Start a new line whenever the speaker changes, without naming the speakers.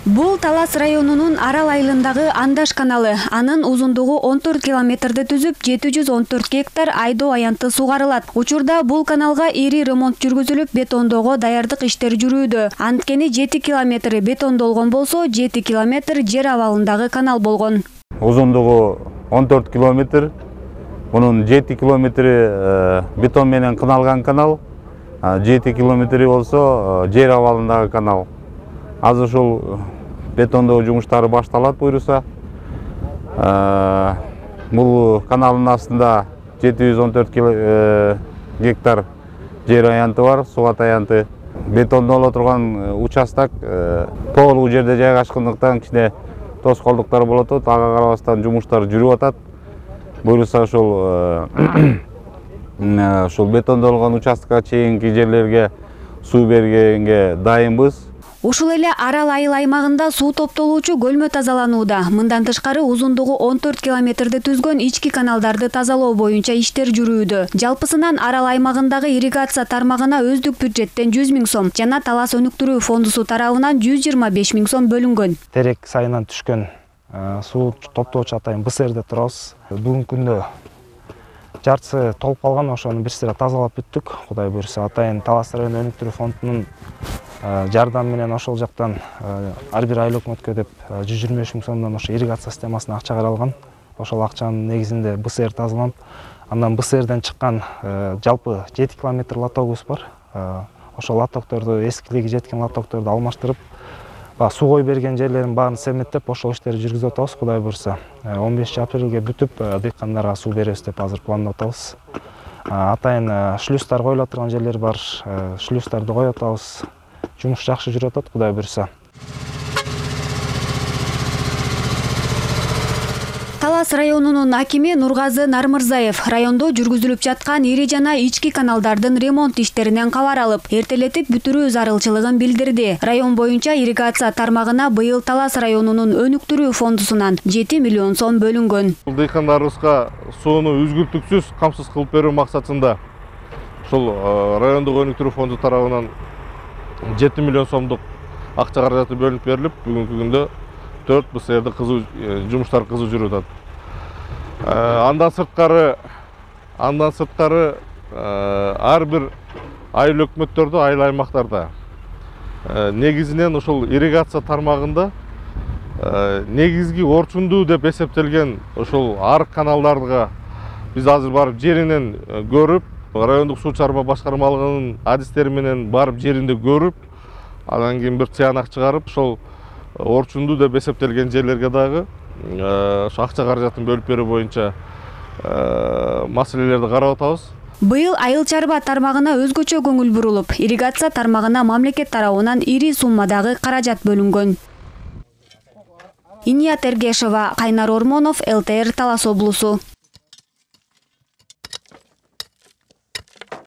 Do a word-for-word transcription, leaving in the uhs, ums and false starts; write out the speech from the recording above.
Бул Талас районунун Арал айылындагы Андаш каналы. Анын узундугу он төрт километрди түзүп, жети жүз он төрт гектар айдоо аянты сугарылат. Учурда бул каналга ири ремонт жүргүзүлүп, бетондоого даярдык иштери жүрүүдө. Анткени жети километри бетондолгон болсо, жети километр жер абалындагы канал болгон.
Узундугу он төрт километр. Мунун жети километри бетон менен кыналган канал, жети километри болсо жер абалындагы канал. Азыр ушул бетондоо жумуштары башталат буйруса. Бул каналдын астында жети жүз он төрт гектар жер аянты бар, сугат аянты. Бетондоло турган участок тоолуу жерде жайгашкандыктан кичине тоскоолдуктар болот. Ага карабастан жумуштар жүрүп атат. Буйруса ушул ушул бетондолгон участкага чейинки жерлерге суу бергенге дайынбыз.
Ушул эле Арал айыл аймагында суу топтолуучу көлмө тазаланууда. Мындан тышкары узундугу он төрт километрди түзгөн ички каналдарды тазалоо боюнча иштер жүрүүдө. Жалпысынан Арал аймагындагы ирригация тармагына өздүк бюджеттен жүз миң сом жана Талас өнүктүрүү фондусу тарабынан жүз жыйырма беш миң сом бөлүнгөн.
Терек сайынан түшкөн суу топтоочу атайын Бысерде турабыз. Бүгүнкү күндө жартысы толуп калган, ошону бир сыйра тазалап бүттүк. Кудай буйруса, атайын Талас району өнүктүрүү фондунун жардам менен ошол жактан ар бир айыл өкмөткө деп жүз жыйырма беш миң сомдон ошо ирригация системасына акча каралган. Ошол акчанын негизинде Бысер тазаланып, андан Бысерден чыккан жалпы жети километр лотогубуз бар. Ошол лотокторду, эскилиги жеткен лотокторду алмаштырып, суу берген жерлерин баарын семеттеп, ошол иштерди жүргүзүп атабыз. Кудай буйруса, он бешинчи апрелге бүтүп, дыйкандарга суу беребиз деп азыр пландап атабыз. Атайын шлюздар коюла турган жерлер бар, шлюздарды коюп атабыз. Жумуш жакшы жүрүп атат, Кудай буйруса.
Талас районунун акими Нургазы Нармырзаев райондо жүргүзүлүп жаткан ири жана ички каналдардын ремонт иштеринен кабар алып, эртелетип бүтүрүү зарылчылыгын билдирди. Район боюнча ирригация тармагына быйыл Талас районунун өнүктүрүү фондусунан жети миллион сом бөлүнгөн.
Дыйкандарыбызга сууну үзгүлтүксүз камсыз кылып берүү максатында ушул райондук өнүктүрүү фонду тарабынан жети миллион сомдук акча каражаты бөлүнүп берилип, бүгүнкү күндө төрт Бысерде кызуу жумуштар кызуу жүрүп атат. Андан сырткары, андан сырткары ар бир айыл өкмөттөрдө, айыл аймактарда негизинен ушул ирригация тармагында негизги орчундуу деп эсептелген ушул арык каналдарга биз азыр барып жеринен көрүп, райондук суу чарба башкармалыгынын адистери менен барып жеринде көрүп, андан кийин бир тыянак чыгарып, ошол орчундуу деп эсептелген жерлерге дагы ошо акча каражатын бөлүп берүү боюнча маселелерди карап атабыз.
Быйыл айыл чарба тармагына өзгөчө көңүл бурулуп, ирригация тармагына мамлекет тарабынан ири суммадагы каражат бөлүнгөн. Иният Эргешова, Кайнар Ормонов, эл тэ эр Талас облусу.